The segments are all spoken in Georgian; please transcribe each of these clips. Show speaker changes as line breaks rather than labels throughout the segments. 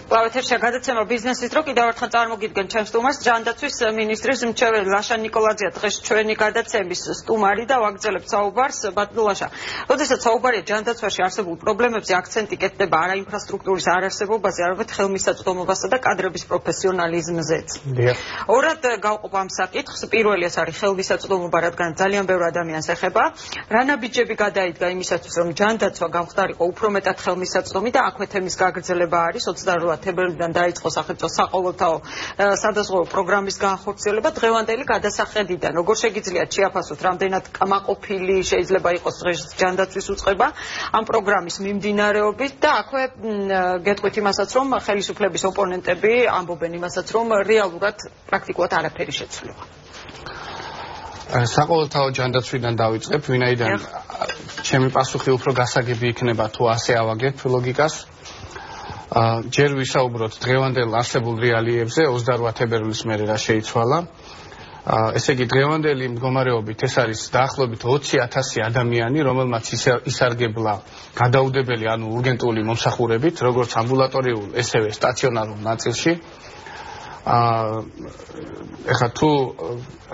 კლავეთერშია გადაცემა ბიზნესის დრო კიდევ ერთხელ წარმოგიდგენ ჩემს სტუმარს ჯანდაცვის მინისტრის მრჩეველი ლაშა ნიკოლაძეა დღეს ჩვენი გადაცემის სტუმარი და ვაგრძელებთ საუბარს ბატონაშა. როდესაც საუბარია ჯანდაცვაში არსებულ პრობლემებზე აქცენტი კეთდება არა ინფრასტრუქტურის არარსებობაზე, არამედ ხელმისაწვდომობასა და კადრების პროფესიონალიზმზეც. ორად გავყოფ ამ საკითხს. პირველი ეს არის ხელმისაწვდომობა, რადგან ძალიან ბევრ ადამიანს ეხება. რა ნაბიჯები გადაიდგა იმისათვის, რომ ჯანდაცვა გამხდარიყო უფრო მეტად ხელმისაწვდომი და აქვე თემის გაგრძელება არის 28 თებერვლიდან დაიწყო სახელმწიფო საყოველთაო სადაზღვევო პროგრამის განხორციელება დღევანდელი გადასახედიდან. როგორ შეგიძლიათ შეაფასოთ, რამდენად კმაყოფილი შეიძლება იყოს დღეს ჯანდაცვის უწყება ამ პროგრამის მიმდინარეობით და აქვე გეტყვით იმასაც, რომ ხელისუფლების ოპონენტები ამბობენ იმასაც, რომ რეალურად პრაქტიკულად არაფერი შეცვლილა.
საყოველთაო ჯანდაცვიდან დავიწყებ, ვინაიდან ჩემი პასუხი უფრო გასაგები იქნება თუ ასე ავაგებ ლოგიკას. ჯერ ვისაუბროთ დღევანდელ არსებულ რეალიებზე 28 თებერვლის მერე რა შეიცვალა. ესე იგი დღევანდელი მდგომარეობით ეს არის დაახლოებით 20,000 ადამიანი, რომელმაც ისარგებლა გადაუდებელი ანუ ურგენტული მომსახურებით, როგორც ამბულატორიულ, ესევე სტაციონარულ ნაწილში. ეხლა თუ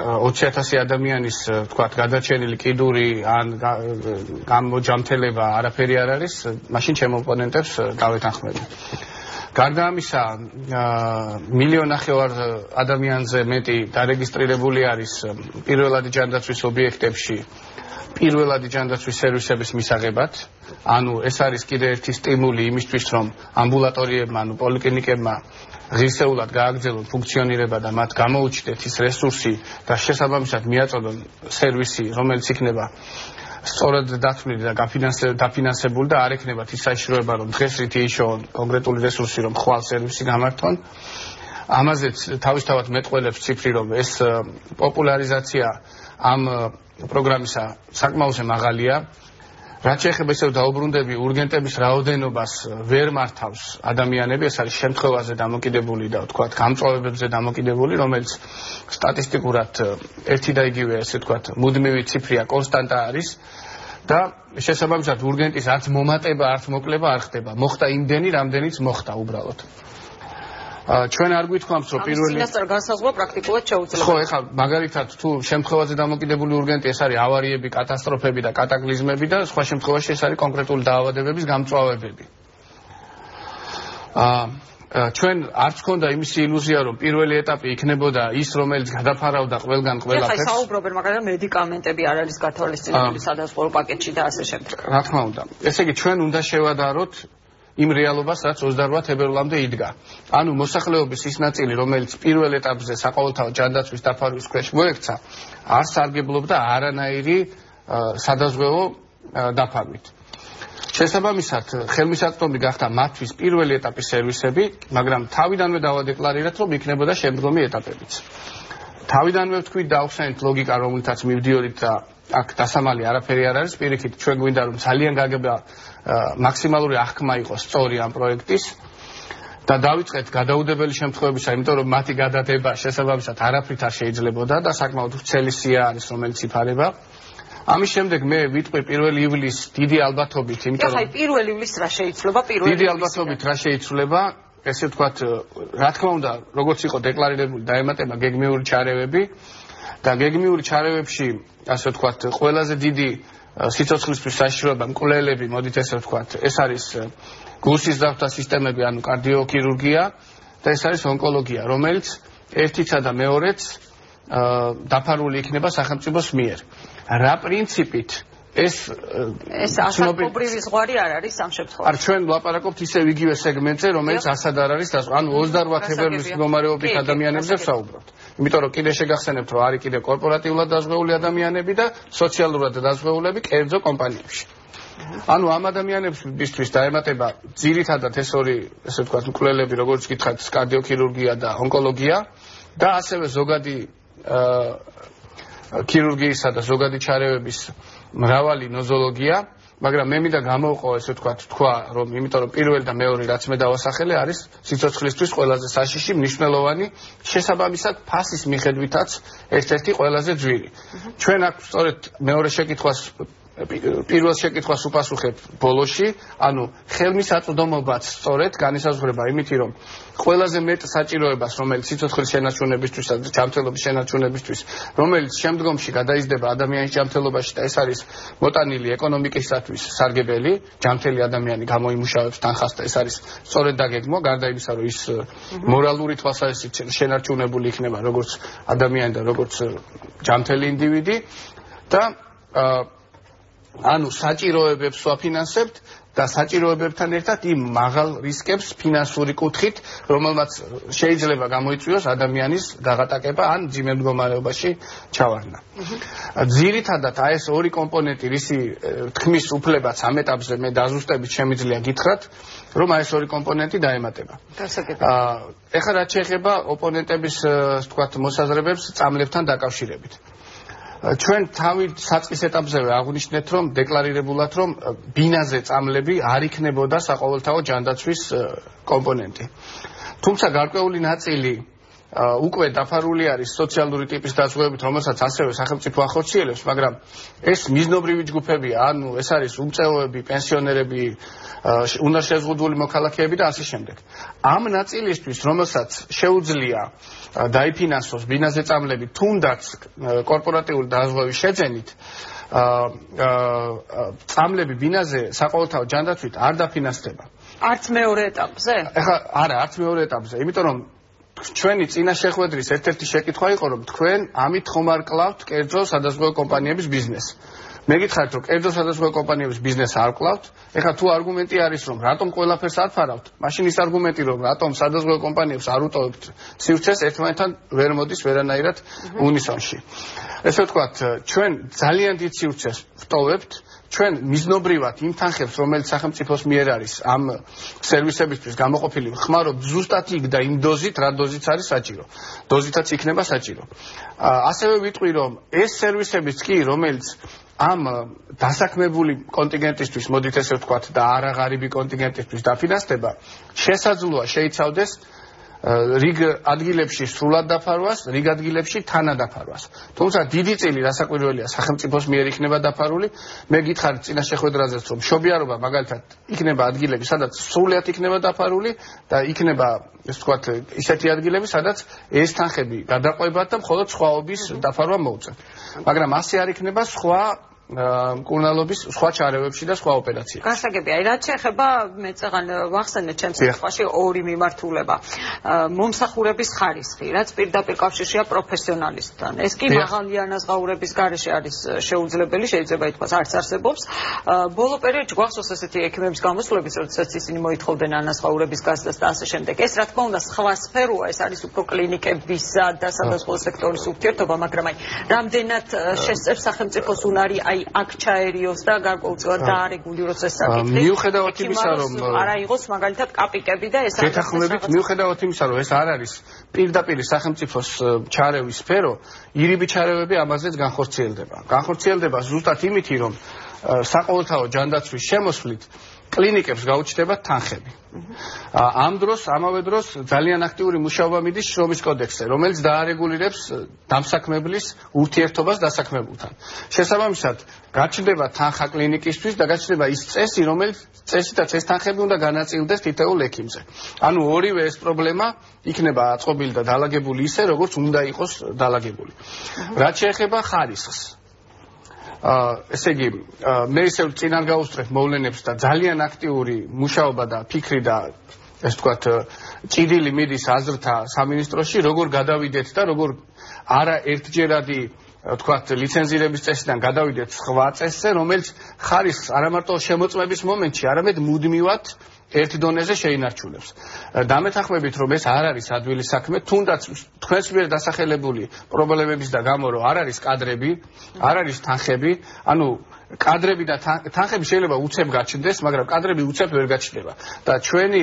20,000 ადამიანის თქვათ გადაჩენილი კიდური ან გამოჯამთელება არაფერი არ არის, მაშინ ჩემ ოპონენტებს დავეთანხმები. გარდა ამისა, 1,5 მილიონი ადამიანზე მეტი დარეგისტრირებული არის პირველადი ჯანდაცვის ობიექტებში პირველადი ჯანდაცვის სერვისების მისაღებად. ანუ ეს არის კიდევ ერთი სტიმული იმისთვის, რომ ამბულატორიებმა, ანუ პოლიკლინიკებმა ღირსეულად გააგრძელონ ფუნქციონირება და მათ გამოუჩნდეთ ის რესურსი და შესაბამისად მიაწოდონ სერვისი, რომელიც იქნება სწორად დათვლილი და დაფინანსებული და არ ექნებათ ის საშიშროება, რომ დღეს რითი იშოვონ კონკრეტული რესურსი, რომ ხვალ სერვისი გამართონ. ამაზეც თავისთავად მეტყველებს ციფრი, რომ ეს პოპულარიზაცია ამ პროგრამისა საკმაოზე მაღალია. რაც შეეხება ისევ დაუბრუნდები ურგენტების რაოდენობას ვერ მართავს ადამიანები, ეს არის შემთხვევაზე დამოკიდებული და ვთქვათ გამწვავებებზე დამოკიდებული, რომელიც სტატისტიკურად ერთი და იგივე, ესე ვთქვათ, მუდმივი ციფრია, კონსტანტა არის და შესაბამისად ურგენტის არც მომატება, არც მოკლება არ ხდება. მოხდა იმდენი, რამდენიც მოხდა უბრალოდ. ჩვენ არ გვითქვამთ, რომ პირველი
წინასწარ განსაზღვრა პრაქტიკულად შეუძლებელია.
ხო, ეხლა მაგალითად თუ შემთხვევაზე დამოკიდებული ურგენტი ეს არის ავარიები, კატასტროფები და კატაკლიზმები და სხვა შემთხვევაში ეს არის კონკრეტული დაავადებების გამწვავებები. ჩვენ არც გქონდა იმის ილუზია, რომ პირველი ეტაპი იქნებოდა ის, რომელიც გადაფარავდა ყველგან ყველაფერს.
ეხლა საუბრობენ, მაგრამ მედიკამენტები არ არის გათვალისწინებული სადაზღვევო პაკეტში და ასე შემდეგ.
რა თქმა უნდა. ესე იგი ჩვენ უნდა შევადაროთ იმ რეალობას, რაც 28 თებერვლამდე იდგა. ანუ მოსახლეობის ის ნაწილი, რომელიც პირველ ეტაპზე საყოველთაო ჯანდაცვის დაფარვის ქვეშ მოექცა, არ სარგებლობდა არანაირი სადაზღვევო დაფარვით. შესაბამისად, ხელმისაწვდომი გახდა მათთვის პირველი ეტაპის სერვისები, მაგრამ თავიდანვე დავადეკლარირეთ, რომ იქნებოდა შემდგომი ეტაპებიც. თავიდანვე ვთქვით და ავხსენეთ ლოგიკა, რომელთაც მივდიოდით და აქ დასამალი არაფერი არ არის, პირიქით ჩვენ გვინდა რომ ძალიან გაგება მაქსიმალური აღქმა იყოს სწორი ამ პროექტის და დავიწყეთ გადაუდებელი შემთხვევებისა, იმიტომ რომ მათი გადადება შესაბამისად არაფრით არ შეიძლებოდა და საკმაოდ ვრცელი სია არის, რომელიც იფარება. ამის შემდეგ მე ვიტყვი 1 ივლისს დიდი ალბათობით, იმიტომ რომ
ახლა 1 ივლისს რა შეიცვლება 1 ივლისს?
დიდი ალბათობით რა შეიცვლება, ესე ვთქვათ, რა თქმა უნდა, როგორც იყო დეკლარირებული, დაემატება გეგმიური ჩარევები და გეგმიური ჩარევებში, ასე ვთქვათ, ყველაზე დიდი სიცოცხლისთვის საშიშროება მკვლელები, მოდით ესე ვთქვათ, ეს არის გულსის ძრავთა სისტემები, ანუ კარდიოქირურგია და ეს არის ონკოლოგია, რომელიც ერთიცა და მეორეც დაფარული იქნება სახელმწიფოს მიერ. რა პრინციპით ეს
ასაკობრივი ზღვარი არ არის ამ შემთხვევაში.
არ ჩვენ ვლაპარაკობთ ისევ იგივე სეგმენტზე, რომელიც ასად არ არის, ანუ 28 თებერვლის მდგომარეობით ადამიანებზე ვსაუბრობთ. იმიტომ რომ კიდე შეგახსენებთ, რომ არის კიდე კორპორატიულად დაზღვეული ადამიანები და სოციალურად დაზღვეულები კერძო კომპანიებში. ანუ ამ ადამიანებისთვის დაემატება ძირითადად ეს ორი, ესე ვთქვათ, მკვლელები, როგორც გითხარით, კარდიოქირურგია და ონკოლოგია და ასევე ზოგადი ქირურგიისა და ზოგადი ჩარევების მრავალი ნოზოლოგია, მაგრამ მე მინდა გამოვყო, ესე ვთქვათ, თქვა, რომ იმიტომ რომ პირველი და მეორე რაც მე დავასახელე არის სიცოცხლისთვის ყველაზე საშიში, მნიშვნელოვანი, შესაბამისად ფასის მიხედვითაც ერთ-ერთი ყველაზე ძვირი. ჩვენ აქ სწორედ მეორე შეკითხვას პირველ შეკითხვას უპასუხებ ბოლოში, ანუ ხელმისაწვდომობაც სწორედ განისაზღვრება იმითი, რომ ყველაზე მეტ საჭიროებას, რომელიც სიცოცხლის შენარჩუნებისთვის და ჯანმრთელობის შენარჩუნებისთვის, რომელიც შემდგომში გადაიზრდება ადამიანის ჯანმრთელობაში და ეს არის მოტანილი ეკონომიკისათვის სარგებელი, ჯანმრთელი ადამიანი გამოიმუშავებს თანხას და ეს არის სწორედ დაგეგმვა, გარდა იმისა, რომ ის მორალური თვალსაზრისით შენარჩუნებული იქნება როგორც ადამიანი და როგორც ჯანმრთელი ინდივიდი და ანუ საჭიროებებს ვაფინანსებთ და საჭიროებებთან ერთად იმ მაღალ რისკებს ფინანსური კუთხით, რომელმაც შეიძლება გამოიწვიოს ადამიანის გაღატაკება ან ძიმე მდგომარეობაში ჩავარდნა. ძირითადად ეს ორი კომპონენტი, რისი თქმის უფლებაც ამ ეტაპზე მე დაზუსტებით შემიძლია გითხრათ, რომ ეს ორი კომპონენტი დაემატება. ეხლა რაც შეეხება ოპონენტების თქვათ მოსაზრებებს წამლებთან დაკავშირებით. ჩვენ თავი საწყის ეტაპზევე აღვნიშნეთ, რომ დეკლარირებულად, რომ ბინაზე წამლები არ იქნებოდა საყოველთაო ჯანდაცვის კომპონენტი. თუმცა გარკვეული ნაწილი უკვე დაფარული არის სოციალური ტიპის დაზღვევებით, რომელსაც ასევე სახელმწიფო ახორციელებს, მაგრამ ეს მიზნობრივი ჯგუფებია, ანუ ეს არის უმწეოები, პენსიონერები, უნარშეზღუდული მოქალაქეები და ასე შემდეგ. ამ ნაწილისთვის, რომელსაც შეუძლია დაიფინანსოს ბინაზე წამლები, თუნდაც კორპორატიული დაზღვევის შეძენით, წამლები ბინაზე საყოველთაო ჯანდაცვით არ დაფინანსდება.
არც მეორე ეტაპზე?
ეხლა არა, არც მეორე ეტაპზე, იმიტომ რომ ჩვენი წინა შეხვედრის ერთ-ერთი შეკითხვა იყო, რომ თქვენ ამით ხომ არ კლავთ კერძო სადაზღვევო კომპანიების ბიზნესს. მე გითხარით, რომ კერძო სადაზღვევო კომპანიების ბიზნესს არ კლავთ. ეხლა თუ არგუმენტი არის, რომ რატომ ყველაფერს არ ფარავთ, მაშინ ის არგუმენტი, რომ რატომ სადაზღვევო კომპანიებს არ უტოვებთ სივრცეს, ერთმანეთთან ვერ მოდის ვერანაირად უნისონში. ესე ვთქვათ, ჩვენ ძალიან დიდ სივრცეს ვტოვებთ. ჩვენ მიზნობრივად იმ თანხებს, რომელიც სახელმწიფოს მიერ არის ამ სერვისებისთვის გამოყოფილი, ხმარობთ ზუსტად იქ და იმ დოზით, რა დოზით არის საჭირო. დოზითაც იქნება საჭირო. ასევე ვიტყვი, რომ ეს სერვისებიც კი, რომელიც ამ დასაქმებული კონტინგენტისთვის, მოდით ესე ვთქვათ, და არაღარიბი კონტინგენტისთვის დაფინანსდება, შესაძლოა შეიცავდეს რიგ ადგილებში სრულად დაფარვას, რიგ ადგილებში თანადაფარვას. თუმცა დიდი წილი რასაკვირველია სახელმწიფოს მიერ იქნება დაფარული. მე გითხარით წინა შეხვედრაზეც, რომ მშობიარობა მაგალითად იქნება ადგილები, სადაც სრულად იქნება დაფარული და იქნება, ესე ვთქვათ, ისეთი ადგილები, სადაც ეს თანხები გადაყვებათ და მხოლოდ სხვაობის დაფარვა მოუწევთ. მაგრამ ასე არ იქნება სხვა მკურნალობის სხვა ჩარევებში და სხვა ოპერაციებში.
გასაგები, აი რაც შეეხება მე წეგან ვახსენე ჩემს სიტყვაში ორი მიმართულება. მომსახურების ხარისხი, რაც პირდაპირ კავშირშია პროფესიონალისტთან. ეს კი მაღალი ანაზღაურების გარეშე არის შეუძლებელი, შეიძლება ითქვას არც არსებობს. ბოლო პერიოდში გვახსოვს ესეთი ექიმების გამოსვლების, როდესაც ისინი მოითხოვდნენ ანაზღაურების გასდას და ასე შემდეგ. ეს რა თქმა უნდა სხვა სფეროა, ეს არის უფრო კლინიკებისა და სადაზღვევო სექტორის ურთიერთობა, მაგრამ აი რამდენად შესწევს სახელმწიფოს უნარი აი აქ ჩაერიოს და გარკვეულწილად დაარეგულიროს ეს საკითხი.
მიუხედავად იმისა, რომ
არა იყოს მაგალითად კაპიკები და ეს
შეთანხმებით, მიუხედავად იმისა, რომ ეს არ არის პირდაპირ სახელმწიფოს ჩარევის სფერო, ირიბი ჩარევები ამაზეც განხორციელდება. განხორციელდება ზუსტად იმითი, რომ საყოველთაო ჯანდაცვის შემოსვლით კლინიკებს გაუჩნდებათ თანხები. ამ დროს, ამავე დროს ძალიან აქტიური მუშაობა მიდის შრომის კოდექსზე, რომელიც დაარეგულირებს დამსაქმებლის ურთიერთობას დასაქმებულთან. შესაბამისად, გაჩნდება თანხა კლინიკისთვის და გაჩნდება ის წესი, რომელიც წესითაც ეს თანხები უნდა განაწილდეს თითოეულ ექიმზე. ანუ ორივე ეს პრობლემა იქნება აწყობილი და დალაგებული ისე, როგორც უნდა იყოს დალაგებული. რაც შეეხება ხარისხს, ესე იგი, მე ისევ წინ არ გავუსწრებ მოვლენებს და ძალიან აქტიური მუშაობა და ფიქრი და ეს ვთქვათ, ჭიდილი მიდის აზრთა სამინისტროში, როგორ გადავიდეთ და როგორ არა ერთჯერადი ვთქვათ, ლიცენზირების წესიდან გადავიდეთ სხვა წესზე, რომელიც ხარისხს არა მარტო შემოწმების მომენტში, არამედ მუდმივად ერთ დონეზე შეინარჩუნებს. დამეთანხმებით, რომ ეს არ არის ადვილი საქმე, თუნდაც თქვენს მიერ დასახელებული პრობლემების და გამო, რომ არ არის კადრები, არ არის თანხები, ანუ კადრები და თანხები შეიძლება უცებ გაჩნდეს, მაგრამ კადრები უცებ ვერ გაჩნდება. და ჩვენი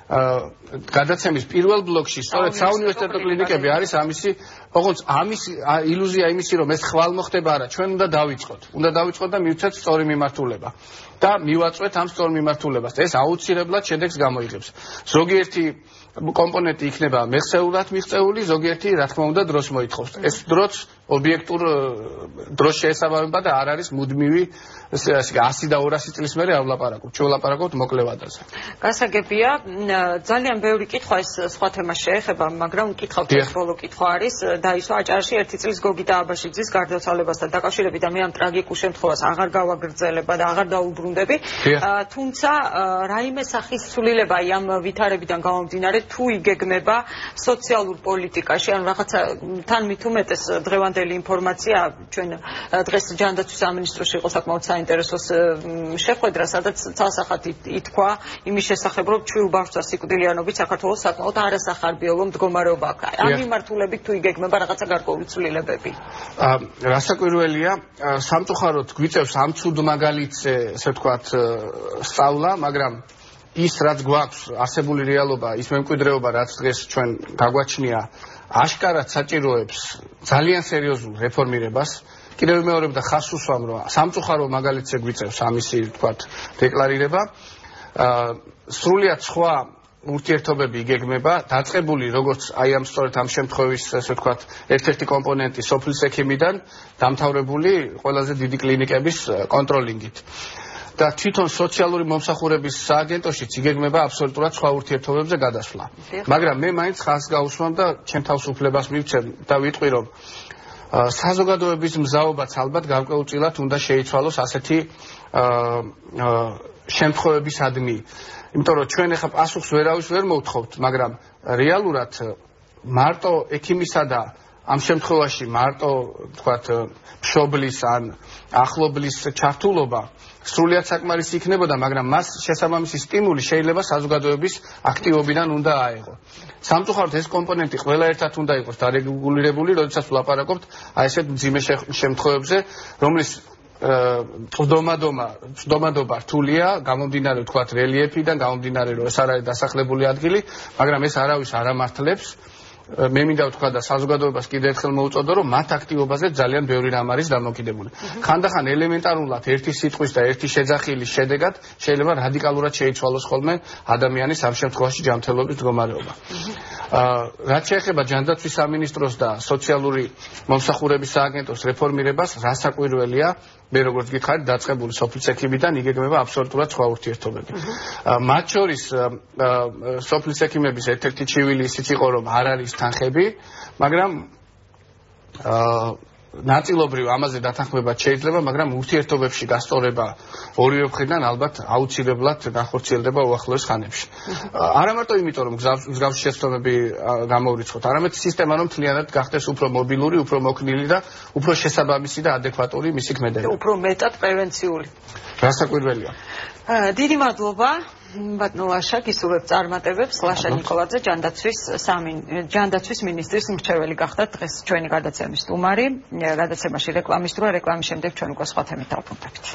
გადაცემის პირველ ბლოკში სწორედ საუნივერსიტეტო კლინიკები არის ამისი ოღონდ ამის ილუზია იმისი რომ ეს ხვალ მოხდება არა ჩვენ უნდა დავიწყოთ და მივცეთ სწორი მიმართულება და მივაწვეთ ამ სწორ მიმართულებას ეს აუცილებლად შედეგს გამოიღებს ზოგიერთი კომპონენტი იქნება მეხსეულად მიღწეული ზოგიერთი რა თქმა უნდა დროს მოითხოვს ეს დროც ობიექტურ დროს შეესაბამება და არ არის მუდმივი 100 და 200 წლის მერე არ ვლაპარაკობ ჩვენ ვლაპარაკობთ მოკლე ვადაზე
გასაგებია ძალიან ბევრი კითხვა ეს სხვა თემას შეეხება მაგრამ კითხავთ ეს ბოლო კითხვა არის დაისვა აჭარაში 1 წლის გოგიტა აბაშიძის გარდაცვალებასთან დაკავშირებით და მე ამ ტრაგიკულ შემთხვევას აღარ გავაგრძელებ და აღარ დაუბრუნდები თუმცა რაიმე სახის ცვლილება ამ ვითარებიდან გამომდინარე თუ იგეგმება სოციალურ პოლიტიკაში ან რაღაცა თან მით უმეტეს დღევანდელი ინფორმაცია ჩვენ დღეს ჯანდაცვის სამინისტროში იყო საკმაოდ საინტერესოს შეხვედრა სადაც ცალსახად ითქვა იმის შესახებ რომ ჩვიულ ბავშვთა სიკვდილიანობით საქართველოს საკმაოდ არასახარბიელო მდგომარეობა აქვს ამ მიმართულებით თუ იგეგმება რაღაცა გარკვეული ცვლილებები
რასაკვირველია სამწუხაროდ გვიწევს ამ ცუდ მაგალითზე ესე ვთქვათ სწავლა მაგრამ ის რაც გვაქვს არსებული რეალობა ის მემკვიდრეობა რაც დღეს ჩვენ გაგვაჩნია აშკარად საჭიროებს ძალიან სერიოზულ რეფორმირებას კიდევ მეორე და ხას უსვამ რომ სამწუხარო მაგალითზე გვიწევს ამისი ვთქვათ დეკლარირება სრულიად სხვა ურთიერთობები იგეგმება დაწყებული როგორც აი ამ სწორედ ამ შემთხვევის ესე ვთქვათ ერთ-ერთი კომპონენტი სოფლის ექიმიდან დამთავრებული ყველაზე დიდი კლინიკების კონტროლინგით და თვითონ სოციალური მომსახურების სააგენტოშიც იგეგმება აბსოლუტურად სხვა ურთიერთობებზე გადასვლა. მაგრამ მე მაინც ხალხს გავუსვამ და ჩემ თავისუფლებას მივცემ და ვიტყვი რომ საზოგადოების მზაობაც ალბათ გარკვეულწილად უნდა შეიცვალოს ასეთი შემთხვევებისადმი. იმიტომ რომ ჩვენ ახლა პასუხს ვერავის ვერ მოვთხოვთ, მაგრამ რეალურად მარტო ექიმისა და ამ შემთხვევაში მარტო თქვათ მშობლის ან ახლობლის ჩართულობა სრულიად საკმარისი იქნებოდა, მაგრამ მას შესაბამისი სტიმული შეიძლება საზოგადოების აქტივობიდან უნდა აეღო. სამწუხაროდ ეს კომპონენტი ყველა ერთად უნდა იყოს დარეგულირებული, როდესაც ვლაპარაკობთ აი ესეთ მძიმე შემთხვევებზე, რომლის წვდომადობა რთულია, გამომდინარე თქვათ რელიეფიდან, გამომდინარე რომ ეს არ არის დასახლებული ადგილი, მაგრამ ეს არავის არ ამართლებს. მე მინდა ვთქვა და საზოგადოებას კიდევ ერთხელ მოვუწოდო რომ მათ აქტივობაზე ძალიან ბევრი რამ არის დამოკიდებული. ხანდახან ელემენტარულად ერთი სიტყვის და ერთი შეძახილის შედეგად შეიძლება რადიკალურად შეიცვალოს ხოლმე ადამიანის ამ შემთხვევაში ჯანმრთელობის მდგომარეობა. რაც შეეხება ჯანდაცვის სამინისტროს და სოციალური მომსახურების სააგენტოს რეფორმირებას, რასაკვირველია მე როგორც გითხარით დაწყებული სოფლის ექიმიდან იგეგმება აბსოლუტურად სხვა ურთიერთობები. მათ შორის სოფლის ექიმების ერთ-ერთი ჩივილი ისიც იყო რომ არ არის თანხები, მაგრამ ნაწილობრივ ამაზე დათანხმება შეიძლება, მაგრამ ურთიერთობებში გასწორება ორივე მხრიდან ალბათ აუცილებლად განხორციელდება უახლოეს ხანებში. არა მარტო იმიტომ რომ მსგავსი შეცდომები გამოვრიცხოთ, არამედ სისტემა რომ მთლიანად გახდეს უფრო მობილური, უფრო მოქნილი და უფრო შესაბამისი და ადეკვატური მისი ქმედება.
უფრო მეტად პრევენციული.
რასაკვირველია.
დიდი მადლობა ბატონო ლაშა გისურვებ წარმატებებს ლაშა ნიკოლაძე ჯანდაცვის მინისტრის მრჩეველი გახდათ დღეს ჩვენი გადაცემის სტუმარი გადაცემაში რეკლამის თუ რეკლამის შემდეგ ჩვენ უკვე სხვა თემით დავბრუნდებით.